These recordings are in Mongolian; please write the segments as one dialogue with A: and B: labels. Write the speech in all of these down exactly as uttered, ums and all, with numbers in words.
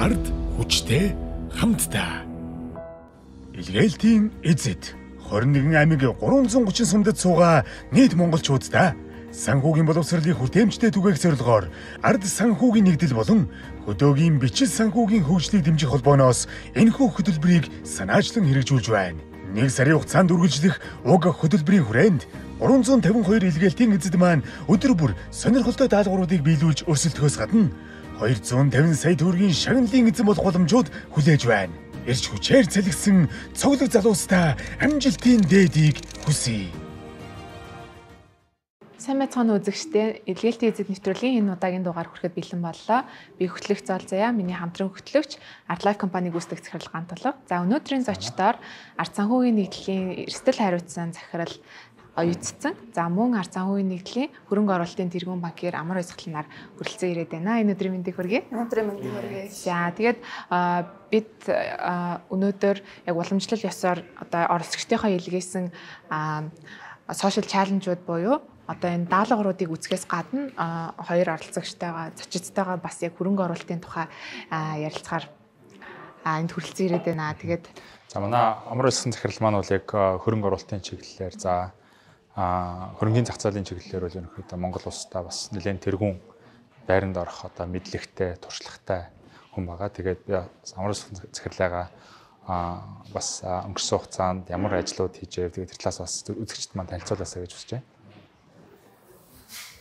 A: Ард хүчтэй хамтдаа. Илгээлтийн эзэд хорин нэгэн аймаг гурван гучин сумдад суугаа нийт монголчуудаа санхүүгийн боловсролын хүртээмжтэй түгээх зорилгоор ард санхүүгийн нэгдэл болон хөдөөгийн бичил санхүүгийн хөгжлийг дэмжих холбооноос энэхүү хөтөлбөрийг санаачлан хэрэгжүүлж байна. Нэг сарын хугацаанд үргэлжлэх уг хөтөлбөрийн хүрээнд гурван зуун тавин хоёр илгээлтийн эзэд маань өдөр бүр сонирхолтой даалгавруудыг биелүүлж өрсөлдөхөөс гадна хоёр зуун тавин сая төгрөгийн шагналын эзэн болох боломжууд хүлээж байна. Ирж хүчээр цалигсан цоглог залуустаа амжилтын дээдийг хүсье.
B: Сайн байцгаана үзэгчдээ, илгээлтийн эзэд нэвтрүүлгийн энэ удаагийн дугаар хүрэхэд бэлэн боллоо. Би хөтлөгч Зол Заяа, миний хамтран хөтлөгч Artlife компани гүйцэтгэх захирал Гантулга. За өнөөдрийн зочдоор ард санхүүгийн нэгдлийн эрсдэл хариуцсан захирал оюутсан. За мөн ард санхүүгийн нэгдлийн хөрөнгө оруулалтын тэргуун банкир Амар Баясгаланаар хүрэлцэн ирээд байна. Энэ өдрийн мэндийг хүргэе.
C: Өнөөдрийн мэндийг хүргэе.
B: За тэгээд бид өнөөдөр яг уламжлал ёсоор одоо оролцогчдийнхоо илгээсэн сошиал чаленжууд буюу одоо энэ даалгавруудыг үзэхээс гадна хоёр оролцогчтойгоо зочидтойгоо бас яг хөрөнгө оруулалтын тухай ярилцахаар энд хүрэлцэн ирээд байна. Тэгээд
D: за манай Амар Баясгалан захирал маань бол яг хөрөнгө оруулалтын чиглэлээр за хөрөнгөний зах зээлийн чиглэлээр бол ерөнхийдөө Монгол улстай бас нэлээд тэргүүн байранд орох одоо мэдлэгтэй, туршлагатай хүн байгаа. Тэгээд би Амар Баясгалан захирлаагаа бас өнгөрсөн хугацаанд ямар ажлууд хийжээ тэгээд тэр талаас бас үзэгчд маань танилцуулаасаа гэж хүсэж байна.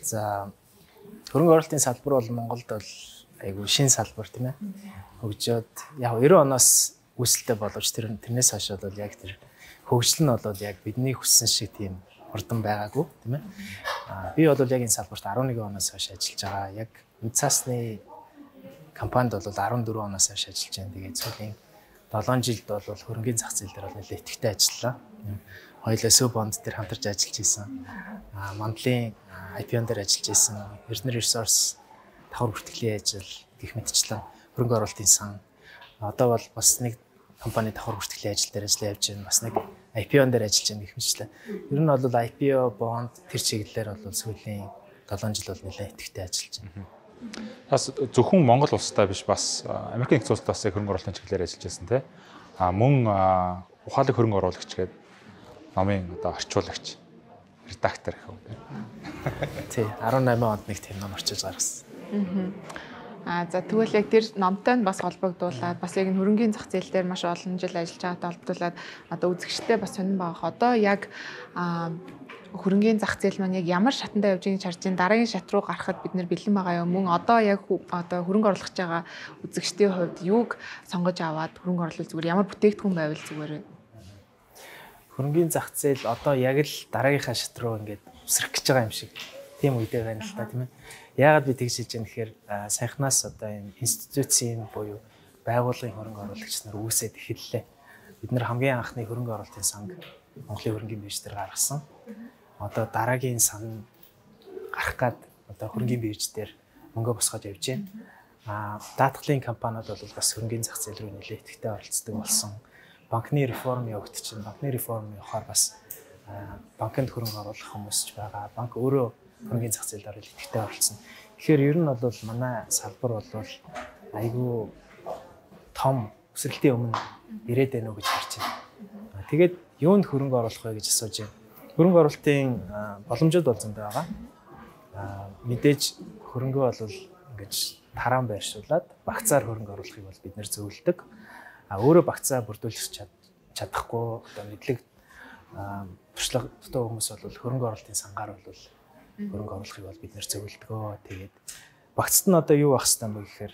E: За хөрөнгө оруулалтын салбар бол Монголд бол айгүй шин салбар тийм ээ. Хөгжөөд яг девяносто оноос үүсэлтэй боловч тэр тэрнээс хойш бол яг тэр хөгжил нь бол яг бидний хүссэн шиг тийм хурдан байгаагүй тийм ээ. Аа би бол яг энэ салбарт дөрвөн оноос хойш ажиллаж байгаа. Яг үд цаасны компанид бол дөрвөн оноос хойш ажиллаж байна. Тэгээд сүүлийн долоон жилд бол хөрөнгөний зах зээл дээр бол нэлээд идэвхтэй ажиллалаа. Хоёулаа Сөв бонд дээр хамтарч ажиллаж исэн. Аа мандлын ай пи о-н дээр ажиллаж исэн. Эрдэнэ ресурс давхар бүртгэлийн ажил гэх мэтчлэн хөрөнгө оруулалтын сан. Одоо бол бас нэг компани давхар бүртгэлийн ажил дээр ажиллаж явж байна. Бас нэг ай пи о-н дээр ажиллаж байна гэх мэтчлэн. Ер нь бол ай пи о, бонд тэр чиглэлээр бол сүүлийн долоон жил бол нэлээд идэвхтэй ажиллаж байна.
D: Бас зөвхөн Монгол улстай биш бас Америк нэгдсэн улсад бас хөрөнгө оруулалтын чиглэлээр ажиллаж байсан тийм. А мөн ухаалаг хөрөнгө оруулагч гэдэг номын одоо орчуулагч редактор гэх юм.
E: Тий, дөрвөн онд нэг тийм ном орчуулж гаргасан.
B: Аа за тэгвэл яг тэр номтой нь бас холбогдуулаад бас яг энэ хөрөнгөний зах зээл дээр маш олон жил ажиллаж байгаатай холбогдуулаад одоо үзэгчтэй бас сонирн байгаа. Одоо яг хөрөнгөний зах зээл маань яг ямар шатанда явж байгааг харж, дараагийн шат руу гарахад бид нэр бэлэн байгаа юм. Мөн одоо яг одоо хөрөнгө оруулах гэж байгаа үзэгчдийн хувьд юуг сонгож аваад хөрөнгө оруулах зүгээр ямар бүтээгдэхүүн байвал зүгээр вэ?
E: Хөрөнгөний зах зээл одоо яг л дараагийнхаа шат руу ингээд өсрөх гэж байгаа юм шиг тийм үедээ байна л та тийм ээ. Яагаад би тэгж хэлж байгаа нэхээр саяхнаас одоо энэ институцийн буюу байгууллагын хөрөнгө оруулагч нар үүсээд эхэллээ. Бид нэр хамгийн анхны хөрөнгө оруулалтын санг Монголын хөрөнгөний бирж дээр гаргасан. Одоо дараагийн сан гарах гад одоо хөрөнгөний бирж дээр мөнгө босгож явж байна. Аа даатгалын компаниуд бол бас хөрөнгөний зах зээл рүү нэлээд идэвхтэй оролцдог болсон. Банкны реформ явагдчихна. Банкны реформ явахаар бас банкнд хөрөнгө оруулах хүмүүс ч байгаа. Банк өөрөө хөрөнгөний зах зээлд орол идэвхтэй оролцсон. Тэгэхээр ер нь бол манай салбар бол айгүй том өсрэлтийн өмнө ирээд байна уу гэж харж байна. Тэгээд юунд хөрөнгө оруулах вэ гэж асууж байна. Хөрөнгө оруулалтын боломжууд бол зөндөө байгаа. Мэдээж хөрөнгө бол ингэж тараан байршуулад багцаар хөрөнгө оруулахыг бол бид нэр зөвлөдөг. А өөрөө багцаа бүрдүүлэх чадахгүй одоо мэдлэг туршлага дутуу хүмүүс бол хөрөнгө оруулалтын сангаар бол хөрөнгө оруулахыг бол бид нэр зөвлөдгөө. Тэгээд багцад нь одоо юу байх хэвээр бэ гэхээр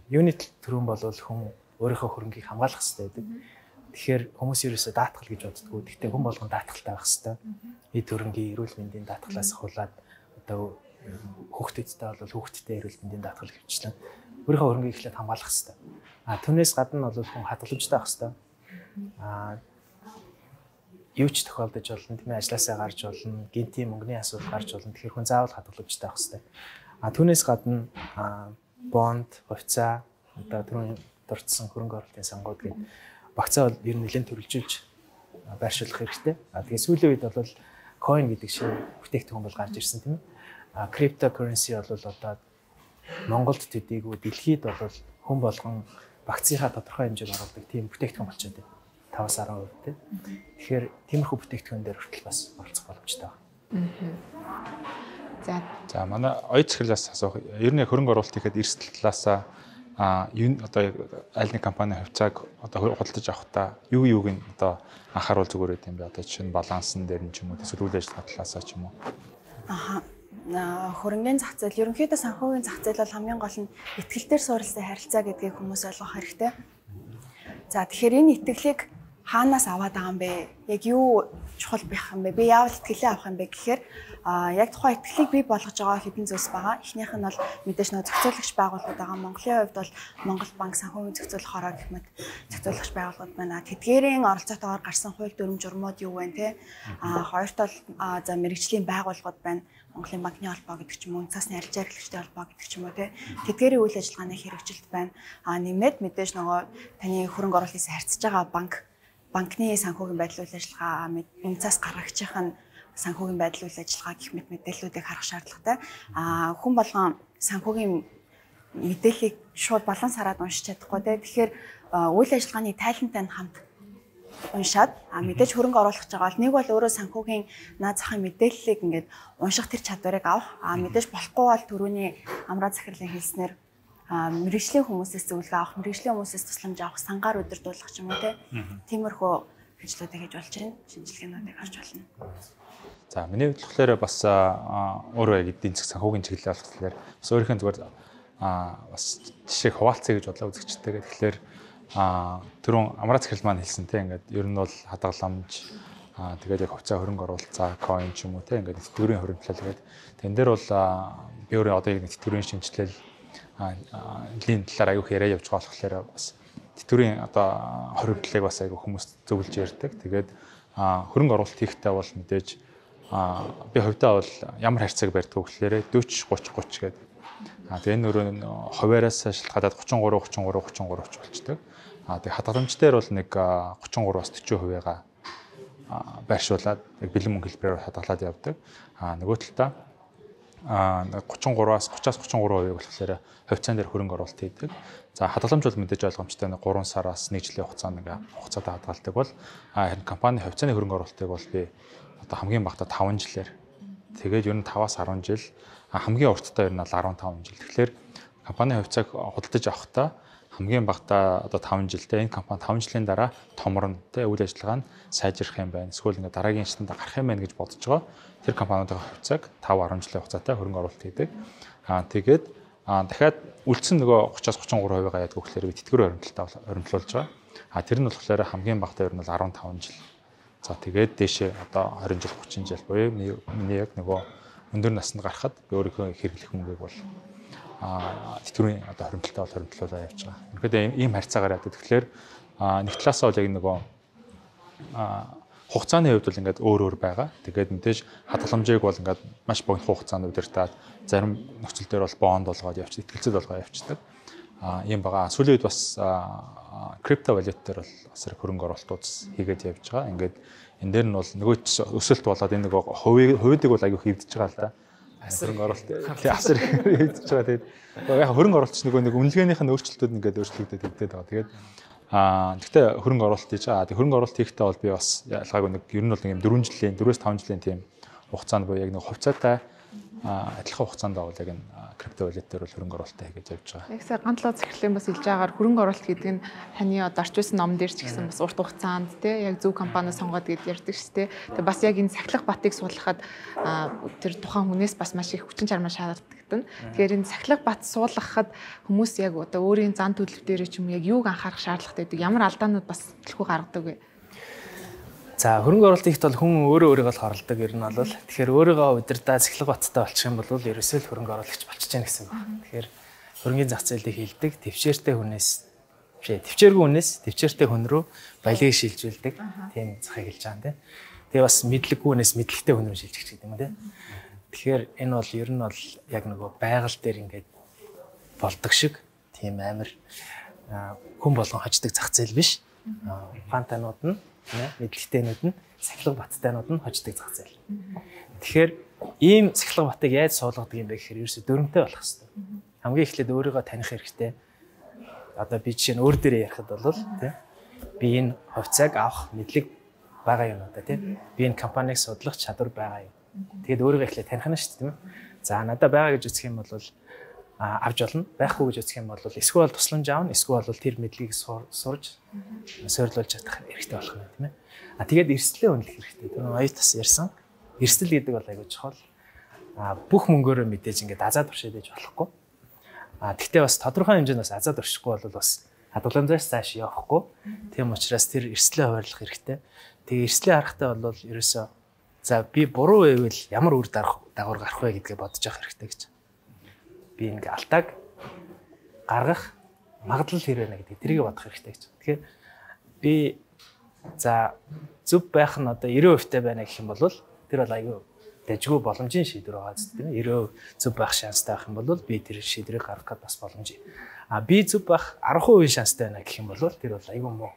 E: юнит төрөн бол хүн өөрийнхөө хөрөнгийг хамгаалах хэрэгтэй байдаг. Тэгэхээр хүмүүс ерөөсөө даатгал гэж боддгоо. Гэхдээ хүн болгон даатгалтай байх хэрэгтэй. Эд хөрөнгийн эрүүл мэндийн даатгалаас ахуулаад одоо хүүхдэдтэй бол хүүхдэдтэй эрүүл мэндийн даатгал хөвчлэн өөрийнхөө хөрөнгийг эхлээд хамгаалах хэрэгтэй. А түүнээс гадна бол хүн хадгаламжтай байх хэрэгтэй. А юу ч тохиолдож болно тийм ээ, ажилласаа гарч болно, гинтийн мөнгөний асуудал гарч болно. Тэгэхээр хүн заавал хадгаламжтай байх хэрэгтэй. А түүнээс гадна бонд, хувьцаа, одоо түрүүн дурдсан хөрөнгө оруулалтын сангууд гэдэг багцаа бол ер нь нэлээд төрөлжүүлж байршуулах хэрэгтэй. А тэгээ сүүлийн үед бол coin гэдэг шинэ бүтээгдэхүүн бол гарч ирсэн тийм ээ. А cryptocurrency бол одоо Монголд төдийгүй дэлхийд бол хүн болгон вакцинаа тодорхой хэмжээнд оруулдаг тийм бүтээгдэхүүн болчиход байна. таваас арван хувь тий. Тэгэхээр тиймэрхүү бүтээгдэхүүн дээр хүртэл бас оролцох боломжтой байна.
B: За.
D: За манай оюут захирлаас асуух. Ер нь хөрөнгө оруулалт хийхэд эрсдэл талаасаа а юу одоо аль нэг компани хувьцааг одоо худалдаж авахдаа юу юуг нь одоо анхааруул зүгээр байт юм бэ? Одоо жишээ нь балансын дээр нь ч юм уу, эсвэл үйл ажиллагаа талаасаа ч юм уу.
C: Аха. Хөрөнгөний зах зээл ерөнхийдөө санхүүгийн зах зээл бол хамгийн гол нь итгэлээр суурилсан харилцаа гэдгийг хүмүүс ойлгох хэрэгтэй. За тэгэхээр энэ итгэлийг хаанаас аваад байгаа юм бэ? Яг юу чухал байх юм бэ? Би яавал итгэлээ авах юм бэ гэхээр а яг тухайн итгэлийг бий болгож байгаа хэдэн зүйлс байгаа. Эхнийх нь бол мэдээж нөө зохицуулагч байгууллагууд байгаа. Монголын хувьд бол Монгол банк санхүүгийн зохицуулах хороо гэх мэт зохицуулагч байгууллагууд байна. Тэдгээрийн оролцоотойгоор гарсан хууль дүрм журмууд юу вэ те? А хоёрт бол за мэрэгжлийн байгууллагууд байна. Монголын банкны холбоо гэдэг ч юм уу, цаасны арилжаа эрхлэгчтэй холбоо гэдэг ч юм уу те. Тэдгээрийн үйл ажиллагааны хэрэгжилт байна. А нэмээд мэдээж нөгөө таны хөрөнгө оруулалтыг харьцаж байгаа банк банкны санхүүгийн байдал үйл ажиллагаа үнцаас гаргагчийнх нь санхүүгийн байдал үйл ажиллагаа гэх мэт мэдээллүүдийг харах шаардлагатай. А хүн болгон санхүүгийн мэдээллийг шууд баланс хараад уншиж чадахгүй те. Тэгэхээр үйл ажиллагааны тайлантай нь хамт уншаад а мэдээж хөрөнгө оруулах гэж байгаа бол нэг бол өөрөө санхүүгийн наад захын мэдээллийг ингээд унших тэр чадварыг авах. А мэдээж болохгүй бол түрүүний амраа захирлын хэлснээр мэрэгжлийн хүмүүсээс зөвлөгөө авах, мэрэгжлийн хүмүүсээс тусламж авах, сангаар удирдуулах ч юм уу те. Тиймэрхүү ажлуудыг хийж болж байна. Шинжилгээнүүдийг харж байна.
D: За миний хувьд болохоор бас өөрөө яг эдийн засаг санхүүгийн чиглэл болохоор бас өөрийнхөө зүгээр бас жишээ хуваалцъя гэж бодлоо үзэгчтэйгээ. Тэгэхээр түрүүн амраа захирал маань хэлсэн те ингээд ер нь бол хадгаламж тэгээд яг хувьцаа хөрөнгө оруулалт, coin ч юм уу те ингээд тэтгэврийн хөрөнгөлөл гэдэг. Тэн дээр бол би өөрөө одоо яг тэтгэврийн шинжилэл лийн талаар аяух яриа явж байгаа болохоор бас тэтгэврийн одоо хоригдлыг бас аяух хүмүүс зөвлөж ярьдаг. Тэгээд хөрөнгө оруулалт хийхдээ бол мэдээж би хувьдаа бол ямар харьцааг барьдаг вэ гэхээр дөрвөн гурван гурван гэдэг. А тэгээ энэ нөрөө хуваараас шалтгаалаад гурван гурван гурван гурван гурван гурван болчихдог. А тэгээ хадгаламж дээр бол нэг гурван гураваас дөрвөн хувигаа байршуулад яг бэлэн мөнгө хэлбэрээр хадгалаад явдаг. А нөгөө талдаа а гурван гураваас гурваас гурван гурван хувийг болохоор хувьцаан дээр хөрөнгө оруулалт хийдэг. За хадгаламж бол мэдээж ойлгомжтой гурван сараас нэг жилийн хугацаанд ингээ хугацаатай хадгалдаг бол харин компани хувьцааны хөрөнгө оруулалтыг бол би одоо хамгийн багтаа таван жилээр тэгээд ер нь таваас арван жил хамгийн урттай ер нь бол арван таван жил. Тэгэхээр компани хувьцааг худалдаж авахдаа хамгийн багтаа одоо таван жилдээ энэ компани таван жилийн дараа томорно тэ үйл ажиллагаа нь сайжрах юм байна. Эсвэл ингээ дараагийн шатанд гарах юм байна гэж бодож байгаа. Тэр компаниудын хувьцааг таван арван жилийн хугацаатай хөрөнгө оруулалт хийдэг. Аа тэгээд дахиад үлдсэн нөгөө гурваас гурван гурван хувигаа яадаг гэхээр би тэтгэврийн хоригдлолтой хоригдлуулж байгаа. Аа тэр нь болохоор хамгийн багтаа ер нь бол арван таван жил. За тэгээд дээшээ одоо двадцать жил тридцать жил буюу миний яг нөгөө өндөр наснд гарахад би өөрийнхөө хэрэглэх мөнгийг бол а тэтгэврийн одоо хоригдлолтой бол хоригдлуулаад явж байгаа. Үнэхээр ийм харьцаагаар яадаг. Тэгэхээр нэг талаас нь бол яг нөгөө хугацааны хувьд бол ингээд өөр өөр байгаа. Тэгээд мэдээж хадгаламжийг бол ингээд маш богино хугацаанд удирдаад зарим нөхцөл дээр бол бонд болгоод явчих, итгэлцэл болгоод явчихдаг. А ийм байгаа. Сүүлийн үед бас крипто валют дээр бол бас хөрөнгө оруулалтууд хийгээд явж байгаа. Ингээд энэ дээр нь бол нөгөө өсөлт болоод энэ нөгөө хувийг хувьдыг бол аягүй хөвдөж байгаа л да. Хөрөнгө оруулалт тий асар хөвдөж байгаа. Тэгээд яг хөрөнгө оруулалт нөгөө нэг үнэлгээнийх нь өөрчлөлтүүд ингээд өөрчлөгдөд өгдөд байгаа. Тэгээд аа гэхдээ хөрөнгө оруулалт хийж байгаа. Тэгээд хөрөнгө оруулалт хийхдээ бол би бас ялгаагүй нэг ер нь бол нэг дөрвөн жилийн дөрвөөс таван жилийн тийм хугацаанд буюу яг нэг хувьцаатай адилхан хугацаанд бол яг энэ крипто валют дээр бол хөрөнгө оруулалт хийж явж байгаа.
B: Яг сая гандлоо захирлын бас хэлж байгаагаар хөрөнгө оруулалт гэдэг нь таны одоо орч байсан ном дээр ч гэсэн бас урт хугацаанд тий яг зөв компани сонгоод гээд ярьдаг шүү дээ. Тэгээ бас яг энэ сахилах батыг суулгахад тэр тухайн хүнээс бас маш их хүчин чармаа шаарддаг. Тэгэхээр энэ сахилах бат суулгахад хүмүүс яг одоо өөрийн зан төлөв дээр ч юм яг юуг анхаарах шаардлагатай гэдэг ямар алдаанууд бас төлхөө гаргадаг вэ?
E: За хөрөнгө оруулалт хийхэд бол хүн өөрөө өөрийгөө л хорлдог ер нь бол тэгэхээр өөрийгөө удирдаа цэглэг баттай болчих юм бол ерөөсөө л хөрөнгө оруулагч болчихж яах гэсэн байна. Тэгэхээр хөрөнгөний зах зээлийг хилдэг төвчээртэй хүнээс бишээ төвчээргүй хүнээс төвчээртэй хүн рүү баялагийг шилжүүлдэг тийм захыг хэлж байгаа юм тийм. Тэгээ бас мэдлэггүй хүнээс мэдлэгтэй хүн рүү шилжих гэдэг юм тийм. Тэгэхээр энэ бол ер нь бол яг нөгөө байгаль дээр ингээд болдог шиг тийм амар хүн болгон хождог зах зээл биш. Фантанууд нь мэдлэгтэйнүүд нь сахилга баттайнууд нь хождог зах зээл. Тэгэхээр ийм сахилга батыг яаж суулгадаг юм бэ гэхээр ерөөсө дөрөнтэй болох хэрэгтэй. хамгийн эхлээд өөрийгөө таних хэрэгтэй. Одоо би жишээ нь өөр дээрээ ярихад бол тий би энэ хувьцааг авах мэдлэг байгаа юм одоо тий би энэ компанийг судлах чадвар байгаа юм. Тэгээд өөрийгөө эхлээд таних нь шүү дээ тийм үү. За надад байгаа гэж үзэх юм бол авч болно. Байхгүй гэж үзэх юм бол эсвэл тусламж аавна, эсвэл тэр мэдлэгийг сурж сойрлуулж чадах хэрэгтэй болох юм тийм ээ. А тэгээд эрсдлээ үнэлэх хэрэгтэй. Тэр оюутас ярьсан. Эрсдэл гэдэг бол айгүй чухал. А бүх мөнгөөрөө мэдээж ингээд азаад туршаад ээж болохгүй. А тэгтээ бас тодорхой хэмжээнд бас азаад туршихгүй бол бас хадгаламжаас цааш явахгүй. Тийм учраас тэр эрсдлээ хуваарлах хэрэгтэй. Тэгээ эрсдлээ харахтаа бол ерөөсөө за би буруу байвал ямар үр дагавар гарах вэ гэдгээ бодож явах хэрэгтэй гэж. Би ингээ алтааг гаргах магадлал хэр байна гэдэг тэрийг бодох хэрэгтэй гэж. Тэгэхээр би за зөв байх нь одоо девяносто процент байна гэх юм бол тэр бол айгүй дэжгүй боломжийн шийдвэр байгаа зү тийм девяносто процент зөв байх шанстай байх юм бол би тэр шийдвэрийг гаргах гээд бас боломж. А би зөв байх арга хувийн шанстай байна гэх юм бол тэр бол айгүй муу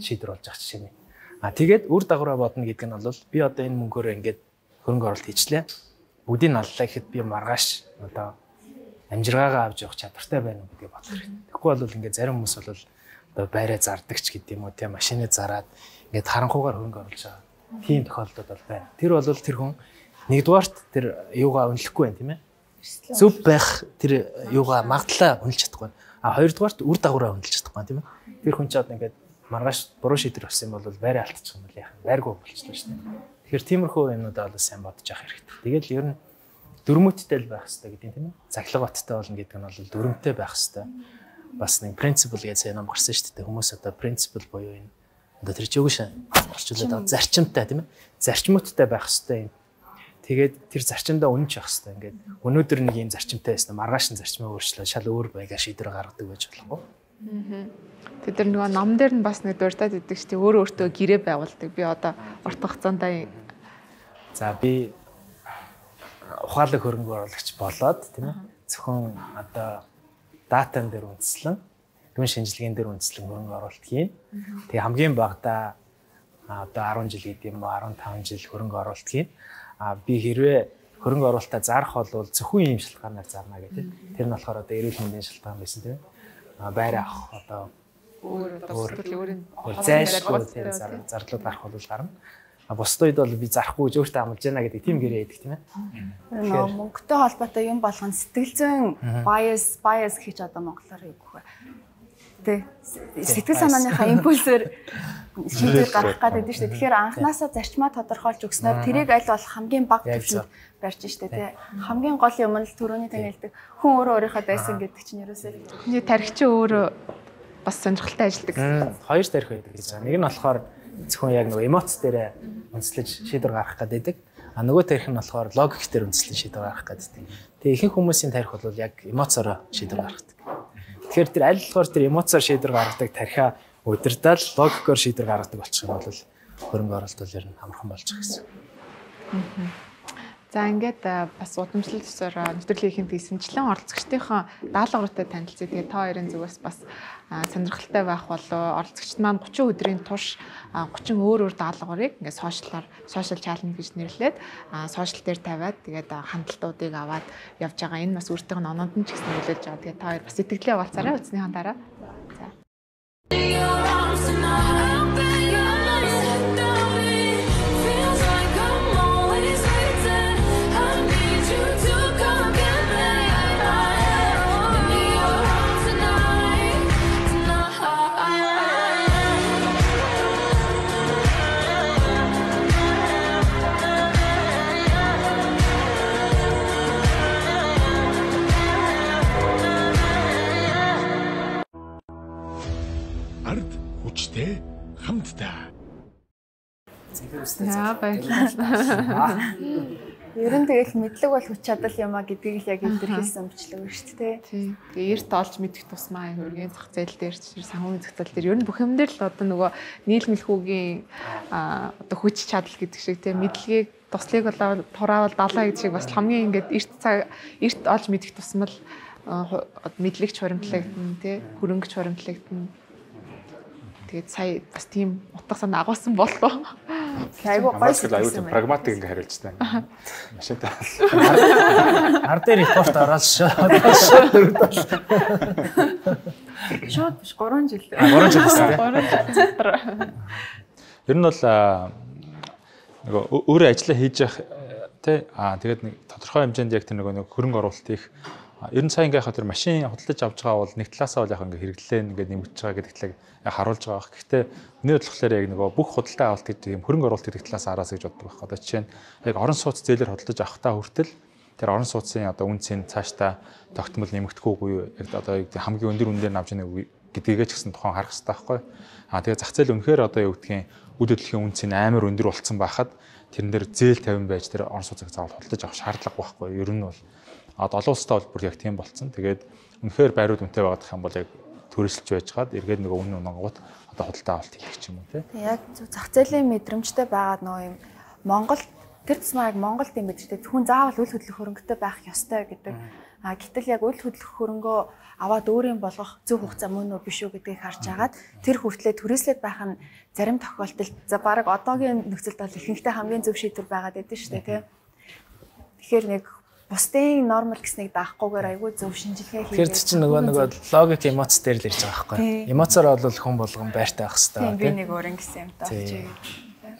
E: шийдвэр болж ах жишээ нь. А тэгээд үр дагавраа бодно гэдэг нь бол би одоо энэ мөнгөөр ингээд хөрөнгө оруулалт хийчлээ. Бүгдийг аллаа гэхэд би маргааш одоо амжиргаагаа авч явах чадвартай байна уу гэдгийг бодох хэрэгтэй. Тэгэхгүй бол ингээд зарим хүмүүс бол одоо байраа зардагч гэдэг юм уу тийм машины зараад ингээд харанхуугаар хөрөнгө оруулж байгаа. Тийм тохиолдол бол байна. Тэр бол тэр хүн нэгдүгээрт тэр юугаа үнэлэхгүй байна тийм ээ. Зөв байх тэр юугаа магадлаа үнэлж чадахгүй. А хоёрдугаарт үр дагавраа үнэлж чадахгүй тийм ээ. Тэр хүн ч одоо ингээд маргааш буруу шийдвэр авсан бол байраа алдчих юм бол яах вэ? Байргүй болчихлоо шүү дээ. Тэгэхээр тиймэрхүү юмнуудаа бол сайн бодож явах хэрэгтэй. Тэгэл ер нь дөрмөттэй л байх хэрэгтэй гэдэг юм тийм ээ. Цаглаг баттай болно гэдэг нь бол дөрмөттэй байх хэрэгтэй. Бас нэг принципл гэж сайн ном гарсан шүү дээ. Хүмүүс одоо принципл буюу энэ одоо тэр чигүүш орчуулад байгаа зарчимтай тийм ээ. Зарчмуудтай байх хэрэгтэй юм. Тэгээд тэр зарчимдаа үнэнч явах хэрэгтэй. Ингээд өнөөдөр нэг юм зарчимтай байсан маргааш нь зарчмаа өөрчлөө шал өөр байга шийдвэр гаргадаг байж болохгүй.
B: Аа. Тэд нар нөгөө ном дээр нь бас нэг дуртад идэг ч тийм өөр өөртөө гэрээ байгуулдаг. Би одоо урт хугацаанд
E: за би ухаалаг хөрөнгө оруулагч болоод тийм ээ зөвхөн одоо датан дээр үндэслэн дүн шинжилгээнд дээр үндэслэн хөрөнгө оруулалт хийн. Тэгээ хамгийн багадаа одоо арван жил гэдэг юм уу арван таван жил хөрөнгө оруулалт хийн. А би хэрвээ хөрөнгө оруулалтаа зарах бол зөвхөн ийм шалтгаанаар зарна гэдэг. Тэр нь болохоор одоо эрүүл мэндийн шалтгаан байсан тийм ээ. Байр авах одоо
B: өөр одоо өөрийн
E: зайлшгүй тийм зардлууд гарах бол гарна. А бусд үед бол би зарахгүй гэж өөртөө амлаж байна гэдэг тийм гэрээ байдаг тийм ээ.
C: Нөө мөнгөтэй холбоотой юм болгон сэтгэл зүйн bias bias гэж одоо монголоор юу гэх вэ? Тэ сэтгэл санааныхаа импульсээр шийдвэр гаргах гэдэг нь шүү дээ. Тэгэхээр анханасаа зарчмаа тодорхойлж өгснөөр тэрийг аль болох хамгийн бага түвшинд барьж штэ тий. Хамгийн гол юм нь л түрүүний тань хэлдэг хүн өөрөө өөрийнхөө дайсан гэдэг чинь ерөөсөө
B: хүний тархич өөрөө бас сонирхолтой ажилладаг.
E: Хоёр тарих байдаг гэж байна. Нэг нь болохоор зөвхөн яг нөгөө эмоц дээр үндэслэж шийдвэр гаргах гэдэг. А нөгөө тарих нь болохоор логик дээр үндэслэж шийдвэр гаргах гэдэг. Тэгээ ихэнх хүмүүсийн тарих бол яг эмоцоор шийдвэр гаргадаг. Тэгэхээр тэр аль болохоор тэр эмоцоор шийдвэр гаргадаг тарихаа удирдал логикоор шийдвэр гаргадаг болчих юм бол хөрөнгө оруулалт бол ер нь амархан болж байгаа гэсэн.
B: За ингээд бас удамшлал төсөөр нэвтрүүлгийн ихэнх эсэмчлэн оролцогчдынхаа даалгавартай танилцъя. Тэгээ та хоёрын зүгээс бас сонирхолтой байх болоо оролцогчд маань гучин өдрийн турш гучин өөр өөр даалгаврыг ингээд сошиалаар social challenge гэж нэрлээд сошиал дээр тавиад тэгээд хандлтуудыг аваад явж байгаа. Энэ бас өөртөө оноонд нь ч гэсэн нөлөөлж байгаа. Тэгээ та хоёр бас сэтгэлээ хаваалцаарай үзнийхэн дараа. За.
A: Ард хүчтэй хамтдаа.
B: Яа баярлалаа.
C: Ер нь тэгэл мэдлэг бол хүч чадал юм а гэдгийг л яг илэрхийлсэн өмчлөг шүү дээ.
B: Тийм. Тэгээ эрт олж мэдэх тусмаа хөргийн зах зээл дээр санхүүгийн зах зээл дээр ер нь бүх юм дээр л одоо нөгөө нийлмэлхүүгийн одоо хүч чадал гэдэг шиг тийм мэдлэгийг туслыг болоо тураавал далаа гэдэг шиг бас хамгийн ингээд эрт цаг эрт олж мэдэх тусмал мэдлэгч хуримтлагдана тий хөрөнгөч хуримтлагдана. Тэгээд сая бас тийм утга санаа агуулсан боллоо.
C: Айгуу гоё
D: Хамаагүй аюул тийм прагматик ингээ хариулж таа. Машинтай.
E: Ар дээр репорт ороод шууд дөрөвдөл.
B: Шууд биш гурван жил.
E: гурван жил гэсэн тийм.
B: гурван жил.
D: Ер нь бол нөгөө өөрөө ажиллаа хийж явах тий аа тэгээд нэг тодорхой хэмжээнд яг тэр нөгөө хөрөнгө оруулалт их ер нь сайн ингээ хаа тэр машин худалдаж авч байгаа бол нэг талаасаа бол яг ингээ хэрэглээ ингээ нэмэгдэж байгаа гэдэг талыг харуулж байгаа бах. Гэхдээ миний бодлохоор яг нөгөө бүх худалдаа авалт гэдэг юм хөрөнгө оруулалт гэдэг талаас араас гэж боддог байх. Одоо жишээ нь яг орон сууц зээлээр худалдаж авахтаа хүртэл тэр орон сууцын одоо үнцийн цаашдаа тогтмол нэмэгдэхгүй юу яг одоо хамгийн өндөр үнээр навж ийнэ гэдгийг ч гэсэн тухайн харах хэрэгтэй байхгүй. Аа тэгээд зах зээл үнэхээр одоо юу гэдгийг үйл хөдлөлийн үнцийн амар өндөр болцсон байхад тэрэн дээр зээл тавин байж тэр орон сууцыг заавал худалдаж авах шаардлага байхгүй. Ер нь бол одоо олон улстай бол бүр яг тийм болцсон. Тэгээд үнэхээр байрууд үнэтэй байгаад их юм бол яг төрөлж байж хаад эргээд нөгөө өмнө унгууд одоо худалдаа авалт хийх ч юм уу тий.
C: Яг зах зээлийн мэдрэмжтэй байгаад нөгөө юм Монгол тэр тусмаа яг Монголд юм мэдэртэй хүн заавал үйл хөдлөх хөрөнгөтэй байх ёстой гэдэг. А гэтэл яг үйл хөдлөх хөрөнгөө аваад өөрийн болгох зөв хугацаа мөн үү биш үү гэдгийг харж агаад тэр хүртлээр түрээслээд байх нь зарим тохиолдолд за баг одоогийн нөхцөлд бол ихэнхдээ хамгийн зөв шийдвэр байгаад байдаг шүү дээ тий. Тэгэхээр нэг бусдын нормал гэснийг даахгүйгээр айгүй зөв шинжилгээ хийгээд
E: тэр чинь нөгөө нөгөө логик эмоц дээр л ирж байгаа байхгүй. Эмоцоор бол хүн болгон байртай байх хэрэгтэй.
C: Би нэг өөрийн гэсэн юм таачиг.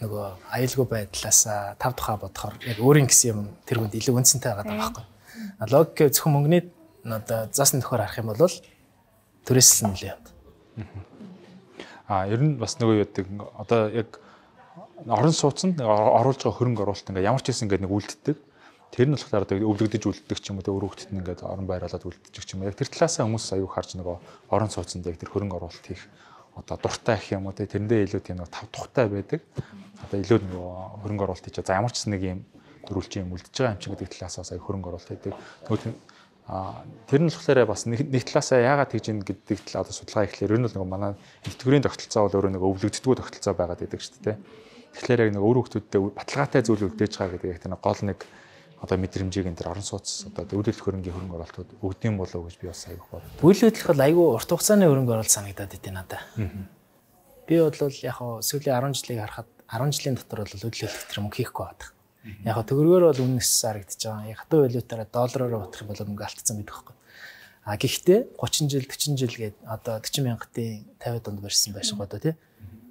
E: Нөгөө аюулгүй байдлаас тав тухай бодохоор яг өөрийн гэсэн юм тэр хүнд илүү үнцэнтэй байгаа байхгүй. Логик зөвхөн мөнгөний одоо заасан төхөөр харах юм бол түрээсэл нь нэлээд.
D: Аа ер нь бас нөгөө яадаг одоо яг орон сууцнд оруулж байгаа хөрөнгө оруулалт ингээ ямар ч хэсэн ингээ нэг үлддэг. Тэр нь болохоор одоо өвлөгдөж үлддэг ч юм уу өөр хөлтөд нь ингээд орон байрлалаад үлддэг ч юм уу. Яг тэр талаасаа хүмүүс аюу харж нөгөө орон сууцнд яг тэр хөрөнгө оруулалт хийх одоо дуртай гэх юм уу те тэрэндээ илүү тийм нөгөө тав тухтай байдаг. Одоо илүү нөгөө хөрөнгө оруулалт хийж за ямар ч нэг юм төрүүлч юм үлдэж байгаа юм чи гэдэг талаасаа аюу хөрөнгө оруулалт хийдэг. Нөгөө а тэр нь болохоор бас нэг талаасаа яагаад тэгж ийн гэдэг талаа одоо судалгаа ихлээр ер нь нөгөө манай нэтгэврийн тогтолцоо бол өөрөө нөгөө өвлөгддгүү тогтолцоо байгаад байдаг шүү дээ. Тэгэхээр яг нэг өөр хүмүүстэй баталгаатай зүйл үлдээж байгаа гэдэг яг тэр гол нэг одоо мэдрэмжийг энэ орон сууц одоо үйл хөдлөх хөрөнгөний хөрөнгө оруулалтууд өгдөм болов гэж би бас аяг бод.
E: Үйл хөдлөх бол айгүй урт хугацааны хөрөнгө оруулалт санагдаад идэв надад. Би бол яг хоо сүүлийн арван жилийг харахад арван жилийн дотор бол үйл хөдлөх тэр мөнгө хийхгүй байдаг. Яг хоо төгрөгөөр бол үнэс харагдаж байгаа. Яг хатуу валютаараа доллараар утгах юм бол мөнгө алдсан гэдэг байхгүй. А гэхдээ гучин жил forty жил гээд одоо forty мянгатын fifty донд барьсан байсан гоо тий.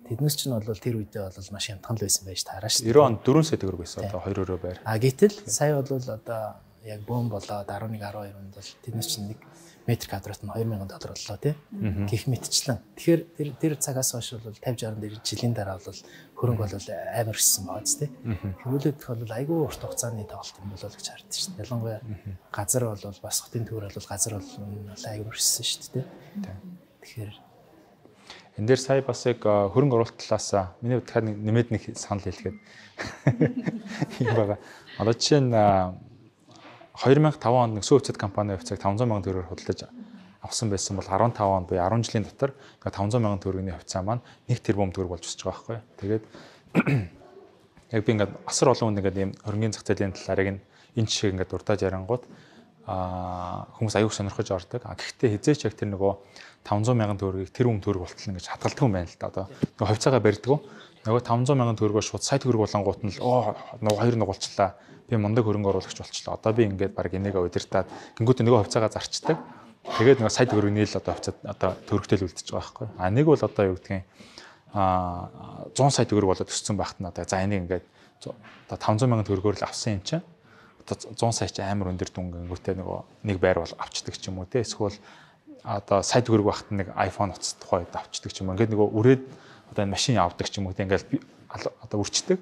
E: Тэднээс ч нь бол тэр үедээ бол маш хямдхан л байсан байж таараа шүү.
D: ninety онд four сая төгрөг байсан одоо two өрөө байр.
E: А гэтэл сая бол одоо яг бөөн болоод eleven twelve онд бол тэднээс чинь нэг метр квадрат нь two thousand доллар боллоо тий. Гэх мэтчлэн. Тэгэхээр тэр тэр цагаас хойш бол fifty sixty жилийн дараа бол хөрөнгө бол амар өссөн байгаа ч тий. Хөрөлөдөх бол айгүй урт хугацааны тоглолт юм болоо гэж харагдаж шүү. Ялангуяа газар бол бас хотын төвөр бол газар бол айгүй өссөн шүү дээ тий. Тэгэхээр
D: энэ дээр сая бас яг хөрөнгө оруулалт талаас миний бодохоор нэмээд нэг санал хэлгээд юм байгаа. Одоо жишээ нь twenty oh five онд нэг сүүцэд компани хувьцааг five hundred сая төгрөгөөр худалдаж авсан байсан бол fifteen онд буюу ten жилийн дотор five hundred сая төгрөгийн хувьцаа маань one тэрбум төгрөг болж өсөж байгаа байхгүй. Тэгээд яг би ингээд асар олон хүн ингээд ийм хөрөнгөний зах зээлийн талаарыг энэ жишээг ингээд дуртаж ярангууд а хүмүүс аюух сонирхож ордог. А гэхдээ хизээч яг тэр нөгөө five hundred сая төгрөгийг тэр хүн төгрөг болтол ингэж хадгалдаг юм байна л да. Одоо нөгөө хувьцаагаа барьдаг. Нөгөө five hundred сая төгрөгөөр шууд сая төгрөг болонгууд нь л оо нөгөө хоёр нугалчлаа. Би мундаг хөрөнгө оруулагч болчлоо. Одоо би ингээд баг энийгээ удирдаад гингүүтээ нөгөө хувьцаагаа зарчдаг. Тэгээд нөгөө сая төгрөг нийл одоо хувьцаа одоо төгрөгтэй үлдчихэж байгаа байхгүй. А нэг бол одоо юу гэдгийг а one hundred сая төгрөг болоод өссөн багт нь одоо за энийг ингээд одоо five hundred сая төгрөгөөр л авсан юм чинь одоо one hundred сая ч амар өндөр дүнгүүтээ нөгөө нэг байр бол авчдаг ч юм уу те. Эсвэл одоо сая төгрөг багт нэг iPhone утас тухайд авчдаг ч юм. Ингээд нөгөө үрээд одоо энэ машин авдаг ч юм уу те. Ингээд одоо үрчдэг.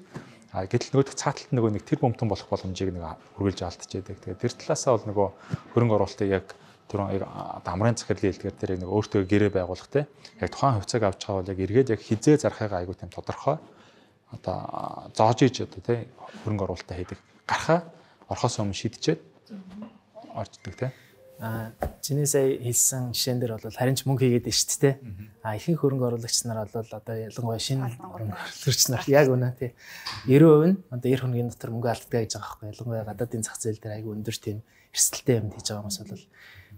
D: А гэтэл нөгөө цааталт нөгөө нэг тэр бомтон болох боломжийг нэг үргэлж алдчихэдэг. Тэгээд тэр талаасаа бол нөгөө хөрөнгө оруулалтыг яг тэр амрын захирлын хэлдгээр тэр нэг өөртөө гэрээ байгуулах те. Яг тухайн хувьцааг авч байгаа бол яг эргээд яг хизээ зарахыгаа айгуу тийм тодорхой одоо зоож иж одоо те хөрөнгө оруулалтаа хийдэг. Гарахаа орхоос өмнө шийдчихэд орждаг те.
E: А чиний сая хэлсэн жишээн дээр бол харин ч мөнгө хийгээд байна шүү дээ. А ихэнх хөрөнгө оруулагч нар бол одоо ялангуяа шинэ хөрөнгө оруулагч нар яг үнэ тий ninety percent нь одоо эр хөрөнгөний дотор мөнгө алддаг гэж байгаа байхгүй. Ялангуяа гадаадын зах зээл дээр айгүй өндөр тийм эрсдэлтэй юм хийж байгаа хүмүүс бол.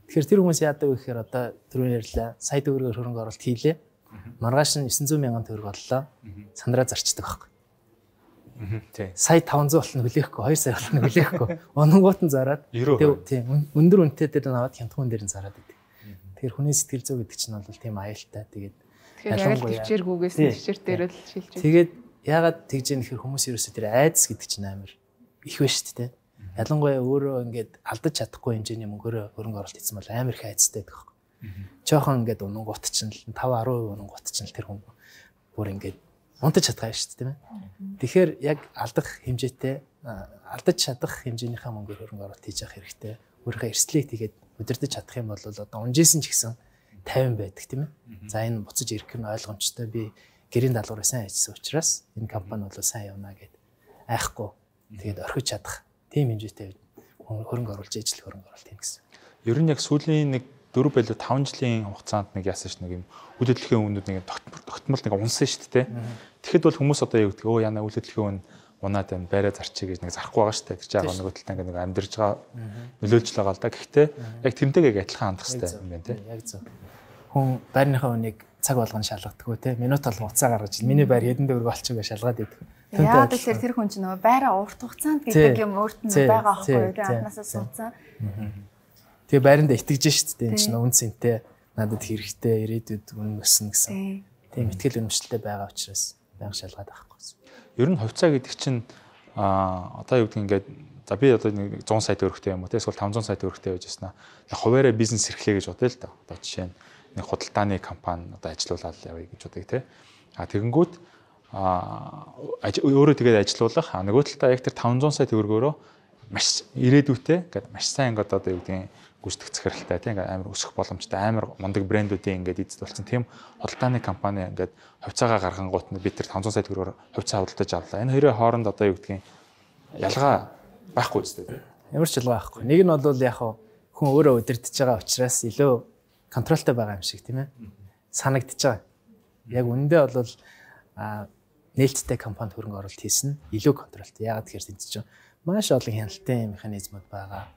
E: Тэгэхээр тэр хүмүүс яадаг вэ гэхээр одоо түрүүн ярьлаа сая төгрөгөөр хөрөнгө оруулалт хийлээ. Маргааш нь nine hundred сая төгрөг боллоо. Сандраа зарчдаг байхгүй.
D: Тий.
E: Сая таван зуун болно хүлээхгүй, хоёр сая болно хүлээхгүй. Ононгууд нь зараад тийм өндөр үнэтэй дээр наваад хянтгуун дээр нь зараад идэв. Тэгэхээр хүний сэтгэл зүй гэдэг чинь бол тийм аюултай. Тэгээд
B: тэгэхээр яг л төвчээргүйгээс төвчээр дээр л шилж байна.
E: Тэгээд яагаад тэгж яах нөхөр хүмүүс ерөөсөө тэр айдас гэдэг чинь амар их байна шүү дээ. Ялангуяа өөрөө ингээд алдаж чадахгүй хэмжээний мөнгөөр хөрөнгө оруулалт хийсэн бол амар их айцтай байдаг. Жохон ингээд унгууд чинь five ten percent унгууд чинь тэр хүн бүр ингээд унтаж чадгаа шүү дээ тийм ээ. Тэгэхээр яг алдах хэмжээтэй алдаж чадах хэмжээнийхээ мөнгөөр хөрөнгө оруулалт хийж явах хэрэгтэй. Өөрийнхөө эрсдлийг тэгээд удирдах чадах юм бол одоо унжсэн ч гэсэн fifty байдаг тийм ээ. За энэ буцаж ирэх нь ойлгомжтой. Би гэрийн даалгавраа сайн хийсэн учраас энэ компани бол сайн явна гэд айхгүй. Тэгээд орхиж чадах тийм хэмжээтэй хөрөнгө оруулж ижил хөрөнгө оруулалт хийнэ гэсэн.
D: Ер нь яг сүүлийн нэг four байлуу five жилийн хугацаанд нэг яасан ш нэг юм үйл хөдлөлийн үнүүд нэг тогтмол нэг унсан шүү дээ. Тэгэхэд бол хүмүүс одоо юу гэдэг өө яна үйл хөдлөлийн үн унаад байна байраа зарчиг гэж нэг зарахгүй байгаа шүү дээ. Тэр чинь яг нэг талаа нэг амьдэрж байгаа нөлөөлж байгаа л да. Гэхдээ яг тэрнтэйгээ адилхан хандах хэрэгтэй юм байна тий.
E: Яг зөв. Хүн байрныхаа үнийг цаг болгон шалгадаггүй тий. Минут болгон уцаа гаргаж миний байр хэдэн төгрөг болчих гэж шалгаад идэв.
C: Яагаад тэгэхээр тэр хүн чинь нөгөө байраа урт хугацаанд гэдэг юм өөрт нь байгаа аахгүй юу? Анханасаа суудсан.
E: Тэгээ байранда итгэж штт дээ. Энэ чинь үн цэнтэй надад хэрэгтэй ирээдүйд үн өснө гэсэн. Тийм итгэл үнэмшилтэй байгаа учраас байнга шалгаад авахгүй.
D: Ер нь хувьцаа гэдэг чинь а одоо юу гэдэг ингээд за би одоо нэг one hundred сая төгрөгтэй юм уу те эсвэл five hundred сая төгрөгтэй байж яснаа хуваараа бизнес эрхлэе гэж бодъё л да. Одоо жишээ нь нэг худалдааны компани одоо ажилуулаад явъя гэж бодъё те. А тэгэнгүүт а өөрөө тэгээд ажилуулах а нөгөө талдаа яг тэр five hundred сая төгрөгөөрөө маш ирээдүйтэй ингээд маш сайн ингээд одоо юу гэдэг гүйцэтгэх захиралтай тийм ингээд амар өсөх боломжтой амар мундаг брэндүүдийн ингээд эзэд болсон тийм худалдааны компани ингээд хувьцаагаа гаргангуут нь бид тэр five hundred сая төгрөгөөр хувьцаа худалдаж авлаа. Энэ хоёрын хооронд одоо юу гэдэг ялгаа байхгүй үстэй.
E: Ямар ч ялгаа байхгүй. Нэг нь бол яг хүн өөрөө удирдах байгаа учраас илүү контролтой байгаа юм шиг тийм ээ. Санагдчихж байгаа. Яг үндэ бол а нээлттэй компанид хөрөнгө оруулалт хийсэн илүү контролтой. Яагаад тэгэхээр тэнд чинь маш олон хяналтын механизмууд байгаа.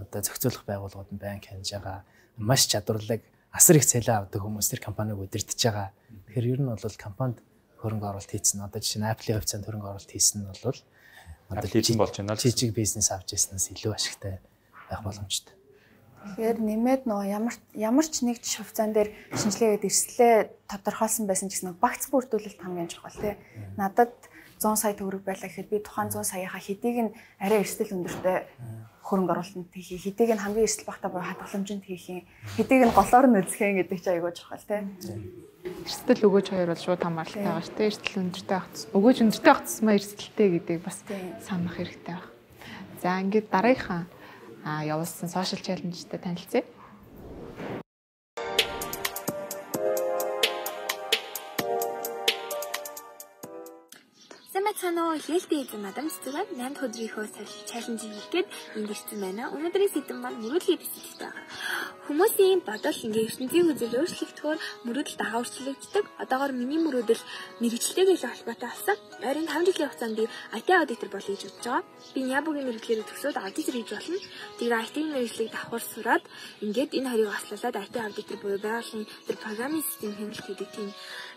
E: Одоо зохицуулах байгууллагууд нь банк хянаж байгаа. Маш чадварлаг асар их цалин авдаг хүмүүс тэр компанийг удирдах байгаа. Тэгэхээр ер нь бол компанид хөрөнгө оруулалт хийсэн. Одоо жишээ нь Apple-ийн хувьцаанд хөрөнгө оруулалт хийсэн нь бол
D: одоо хийсэн болж байна л
E: жижиг бизнес авч ирснээс илүү ашигтай байх боломжтой.
C: Тэгэхээр нэмээд нөгөө ямар ямар ч нэг хувьцаан дээр шинжилгээгээд эрсдлээ тодорхойлсон байсан ч гэсэн багц бүрдүүлэлт хамгийн чухал тий. Надад one hundred сая төгрөг байлаа гэхэд би тухайн one hundred саяхаа хэдийг нь арай эрсдэл өндөртэй хөрөнгө оруулалтанд хийх, хэдийг нь хамгийн эрсдэл багтаа буюу хадгаламжинд хийх юм, хэдийг нь голоор нь үзэх гэдэг чинь айгүй чухал тий.
B: Эрсдэл өгөөж хоёр бол шууд хамааралтай байгаа шүү дээ. Эрсдэл өндөртэй байх тус. Өгөөж өндөртэй байх тусмаа эрсдэлтэй гэдэг бас санах хэрэгтэй байна. За ингээд дараагийнхаа а явуулсан сошиал чаленжтэй танилцъя.
F: Санаа хэлтэй эзэн мадам цэцэг наймд өдрийнхөө чаленж хийгээд ингэсэн байна. Өнөөдрийн сэдэв маань мөрөөдлийн сэдэвтэй байна. Хүмүүсийн бодол ингээ ертөнцийн үзэл өөрчлөгдөхөөр мөрөөдөл дагаварчлагддаг. Одоогоор миний мөрөөдөл мэрэгчлэлтэй холбоотой болсон. Ойрын five жилийн хугацаанд би ай ти аудитор болъё гэж бодож байгаа. Би Нябугийн мэрэгчлэрээ төгсөөд аудитор хийж болно. Тэр ай ти мэрэгчлийг давхар сураад ингээд энэ хоёрыг аслуулад ай ти аудитор буюу байгууллагын тэр программын систем хэмжүүлэлт гэдэг тийм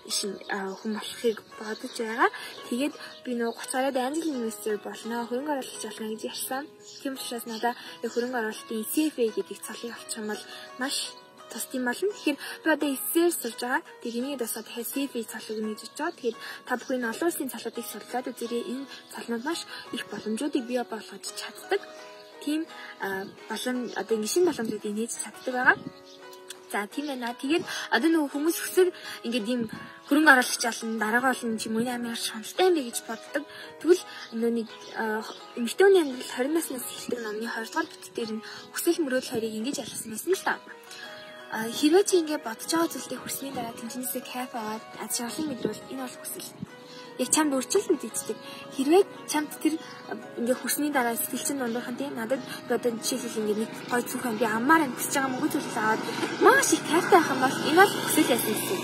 F: шин хүн болохыг бодож байгаа. Тэгээд би нөгөө thirty гаруйд англи инвестор болно, хөрөнгө оруулалт болно гэж ярьсан. Тийм учраас надад хөрөнгө оруулалтын си эф эй гэдэг цалыг авчих юм бол маш тусдсан болно. Тэгэхээр би одоо эсээр сурж байгаа. Тэгээд энийг дасаа дахиад си эф эй цалыг нээж өгч байгаа. Тэгээд та бүхэн олон улсын цалуудыг сурлаад үзээрэй. Энэ цалнууд маш их боломжуудыг бий болгож чаддаг. Тийм болон одоо ингэ шин боломжуудыг нээж чаддаг байгаа. За тийм байна. Тэгээд одоо нөгөө хүмүүс өсөр ингээд ийм хөрөнгө оруулагч олон дараагаа олон юм уу амар шаналтай юм бэ гэж боддог. Тэгвэл нөгөө нэг эмэгтэйний амьдрал twenty наснаас эхэлдэг номны two дугаар бүтэц дээр нь хүсэл мөрөөдөл хоёрыг ингэж ялгасан байсан л та. А хэрвээ чи ингээд бодож байгаа зүйлдээ хүрсний дараа тэнцэнэсээ кайф аваад аз жаргалыг мэдвэл энэ бол хүсэл. Яг чамд үржил мэдээддэг. Хэрвээ чамд тэр ингээ хүрсний дараа сэтгэл чинь дундуухан тийм надад одоо жишээлбэл ингээ нэг гой цүхэн би аммаар амтсаж байгаа мөнгө зүйлс аваад маш их кайфтай байх юм бол энэ бол хүсэл яасан юм.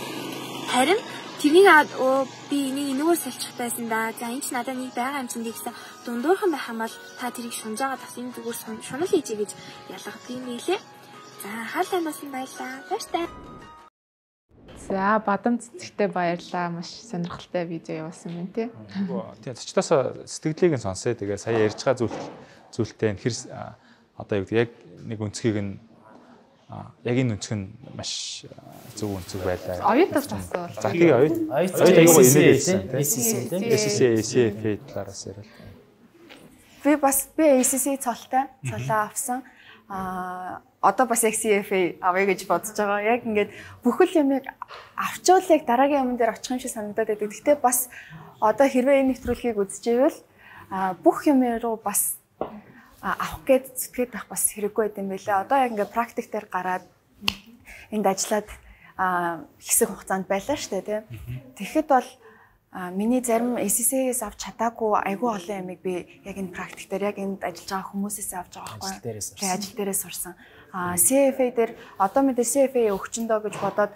F: Харин тэрнийг аваад оо би энийг энэгээр салчих байсан да. За энэ ч надад нэг байгаа юм чинь гэсэн дундуухан байх юм бол та тэрийг шунж байгаа бас энэ зүгээр шунал хийжээ гэж ялгах юм нэлээ. За хаалаа бас юм байлаа. Баяртай.
B: За бадам цэцэгтэй баярлаа. Маш сонирхолтой видео явуулсан байна тий.
D: Тийм зочдоосоо сэтгэлийг нь сонсъё. Тэгээ сая ярьж байгаа зүйл зүйлтэй хэр одоо юу гэдэг яг нэг өнцгийг нь яг энэ өнцг нь маш зөв өнцөг байлаа.
B: Оюутаас асуувал.
D: За тэгээ оюут.
E: Оюут
D: айгуу инээдсэн
E: тийм. эс эс эс тийм.
D: эс эс эс эф талаараас ярил.
C: Би бас би эс эс эс цолтой цолоо авсан. Аа одоо бас яг си эф эй авъя гэж бодож байгаа. Яг ингээд бүхэл юмыг авчвал яг дараагийн юм дээр очих юм шиг санагдаад байдаг. Гэхдээ бас одоо хэрвээ энэ нэвтрүүлгийг үзчихвэл бүх юм руу бас авах гээд зүтгэж байх бас хэрэггүй байт юм байлаа. Одоо яг ингээд практик дээр гараад энд ажиллаад хэсэг хугацаанд байлаа шүү дээ, тийм. Тэгэхэд бол миний зарим эс эс эс-ээс авч чадаагүй айгүй олон ямиг би яг энэ практик дээр яг энд ажиллаж байгаа хүмүүсээс авч байгаа байхгүй. Тэгээ ажил дээрээ сурсан. А си эф эй дээр одоо мэдээ си эф эй өгчөндөө гэж бодоод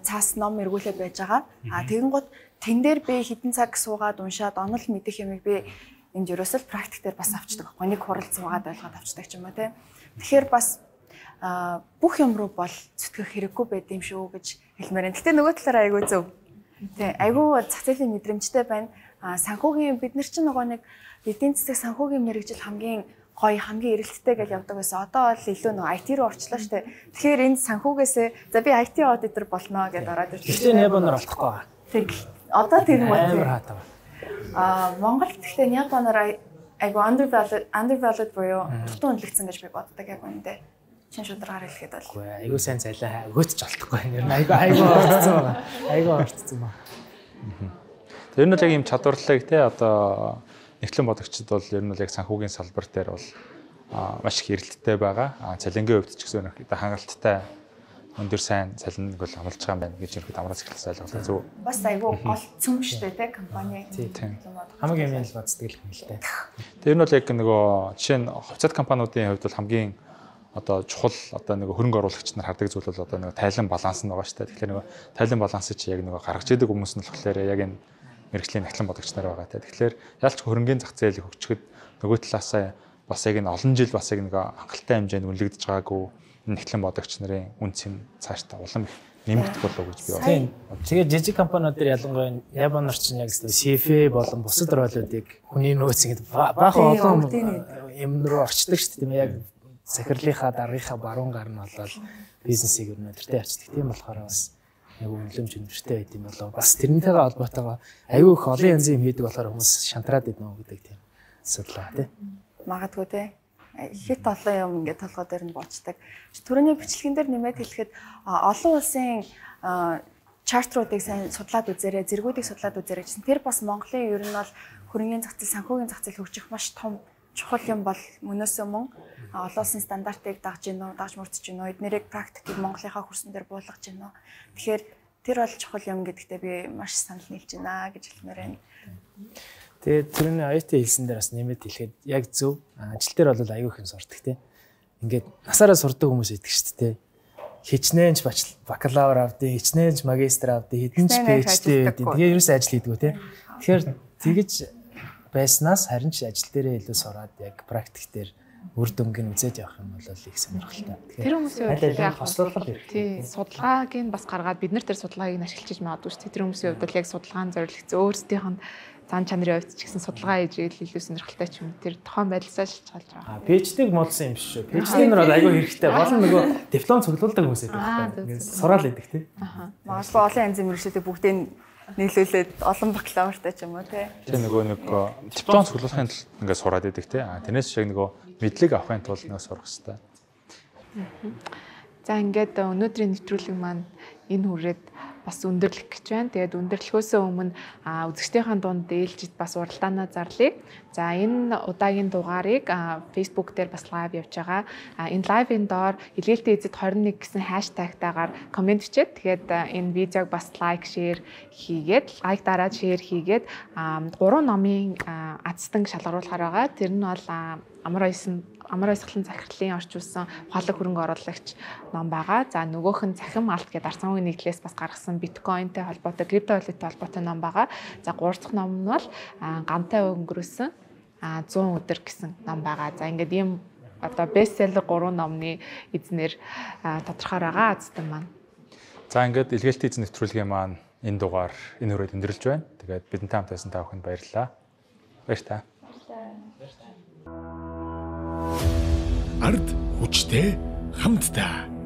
C: цаас ном эргүүлээд байж байгаа. А тэгэн гот тэн дээр би хэдэн цаг суугаад уншаад онол мэдэх ямиг би энд ерөөсөл практик дээр бас авчдаг байхгүй. Нэг хурал зугаад ойлгоод авчдаг ч юм уу те. Тэгэхээр бас бүх юм руу бол зүтгэх хэрэггүй байд юм шүү гэж хэлмээр байна. Гэтэ нөгөө талаараа айгүй зөв. Тий, айгүй зах зээлийн мэдрэмжтэй байна. А санхүүгийн бид нар чинь нөгөө нэг эдийн засаг санхүүгийн мэргэжил хамгийн гоё, хамгийн эрэлттэй гэж явдаг байсан. Одоо бол илүү нөгөө ай ти руу орчлоо шүү дээ. Тэгэхээр энэ санхүүгээсээ за би ай ти аудитор болно гэдээ ороод ирсэн.
E: Гэхдээ Японоор олдохгүй байгаа.
C: Тэг. Одоо тэр юм байна.
E: Амар хатаа.
C: А Монгол гэхдээ Японоор айгүй undervalued undervalued буюу дутуу үнэлэгдсэн гэж би боддог яг үүндээ. Чин шударгаар хэлэхэд бол.
E: Үгүй айгүй сайн цайлаа. Өгөөч олдохгүй. Ингээ айгүй айгүй орцсон байгаа. Айгүй орцсон ба.
D: Тэр нь л яг юм чадварлаг те одоо нэгтлэн бодогчид бол ер нь л яг санхүүгийн салбар дээр бол маш их эрэлттэй байгаа. Цалингийн хувьд ч гэсэн хангалттай өндөр сайн цалинг бол амлаж байгаа юм байна гэж ерөөд амраас эхэлсэн ойлголоо зөв.
C: Бас айгүй гол цөм штэ те компани.
E: Хамгийн юм л боддог юм л те.
D: Тэр нь бол яг нөгөө жишээ нь хувьцат компаниудын хувьд бол хамгийн одоо чухал одоо нэг хөрөнгө оруулагч нар хардаг зүйл бол одоо нэг тайлан баланс нь байгаа шүү дээ. Тэгэхээр нэг тайлан балансыг чи яг нэг гаргаж идэг хүмүүс нь болохоор яг энэ мэрэгжлийн нахлан бодогч нар байгаа те. Тэгэхээр ялч хөрөнгөний зах зээлийг хөгжөхөд нөгөө талаасаа бас яг энэ олон жил бас яг нэг хангалттай хэмжээнд үнэлэгдэж байгаагүй нахлан бодогч нарын үнц нь цаашдаа улам их нэмэгдэх болов гэж би
E: байна. Тэгээд жижиг компаниуд дээр ялангуяа Японоор чинь яг си эф эй болон бусад ролуудыг хүний нөөц ингэ баахан олон юм руу орчдөг шүү дээ тийм яг захирлынхаа даргынхаа баруун гар нь болол бизнесийг өрнө өдөртэй арчдаг. Тийм болохоор бас яг үнэлэмж өндөртэй байд юм болоо. Бас тэрнтэйгээ холбоотойгоо аюу их олон янзын юм хийдэг болохоор хүмүүс шантраад иднэ гэдэг тийм асуудал тий.
C: Магадгүй тий. Хит олон юм ингээд толгой дээр нь боцдог. Төрөний бичлэгэн дээр нэмээд хэлэхэд олон улсын чартруудыг сайн судлаад үзээрэй, зэргүүдийг судлаад үзээрэй гэсэн. Тэр бас Монголын ер нь бол хөрөнгөний зах зээл, санхүүгийн зах зээл хөгжих маш том чухал юм бол мөнөөс өмнө олон улсын стандартыг дагж гинөө, дагж мөрдөж гинөө, эднэрийг практикийг Монголынхаа хөрсөн дээр буулгаж гинөө. Тэгэхээр тэр бол чухал юм гэдэгтээ би маш санал нийлж байна гэж хэлмээр байна.
E: Тэгээд тэрний ай ти хэлсэн дээр бас нэмээд хэлэхэд яг зөв ажил дээр бол аюу их юм сурдаг тий. Ингээд насаараа сурдаг хүмүүс идэг шүү дээ. Хичнээнч бакалавр авдیں, хичнээнч магистр авдیں, хэдэн ч пэйжтэй байдیں. Тэгээ ерөөсөө ажил хийдгүү тий. Тэгэхээр тэгэж байснаас харин ч ажил дээрээ илүү сураад яг практик дээр үр дүнг нь үзээд явах юм бол их сонирхолтой.
B: Тэр хүмүүсийн хувьд яг
E: хослуулах хэрэгтэй.
B: Тий, судалгааг нь бас гаргаад бид нар тэр судалгааг нь ашиглаж магадгүй шүү дээ. Тэр хүмүүсийн хувьд яг судалгаан зорилгоцсон өөрсдийнх нь зан чанарын хувьд ч гэсэн судалгаа хийж ийл илүү сонирхолтой ч юм. Тэр тохон байдласаа шалж байгаа.
E: Аа, пэйжтэйг модсон юм биш шүү. Пэйжтэй нар бол айгүй хэрэгтэй. Болон нөгөө диплом цуглуулдаг хүмүүс байдаг байхгүй. Сураал идэг тий.
C: Аа. Магадгүй олон янзын мэргэжлүүдийг бүгдийг нийлүүлээд олон бакалавртай ч юм уу тий.
D: Тэр нөгөө нэг диплом цуглуулахын тулд ингээд сураад идэг тий. Аа, тэрнээс шиг нөгөө мэдлэг авахын тулд нэг сурах хэрэгтэй.
B: За ингээд өнөөдрийн нэвтрүүлэг маань энэ хүрээд бас өндөрлөх гэж байна. Тэгээд өндөрлөхөөс өмнө үзэгчдийнхээ дунд ээлжид бас уралдаанаа зарлая. За энэ удаагийн дугаарыг Facebook дээр бас лайв явж байгаа. Энэ лайвын доор илгээлтийн эзэд двадцать one гэсэн хаштагтайгаар комент бичээд тэгээд энэ видеог бас лайк, шеэр хийгээд, лайк дараад шеэр хийгээд гурван номын азтан шалгаруулахаар байгаа. Тэр нь бол амар ойсон амар ойсгалан захирлын орчуулсан ухаалаг хөрөнгө оруулагч ном байгаа. За нөгөөх нь цахим алт гэдэг арцангийн нийтлээс бас гаргасан биткойнтэй холбоотой, криптовалюттай холбоотой ном байгаа. За гурав дахь ном нь бол гантай өнгөрөөсөн one hundred өдөр гэсэн ном байгаа. За ингээд ийм одоо бестселлер гурван номны эзнэр тодорхой байгаа азтан маань.
D: За ингээд илгээлтийн эзэн нэвтрүүлгийн маань энэ дугаар энэ хүрээд өндөрлж байна. Тэгээд бидэнтэй хамт байсан та бүхэнд баярлалаа. Баяр та.
A: Ард хүчтэй хамтдаа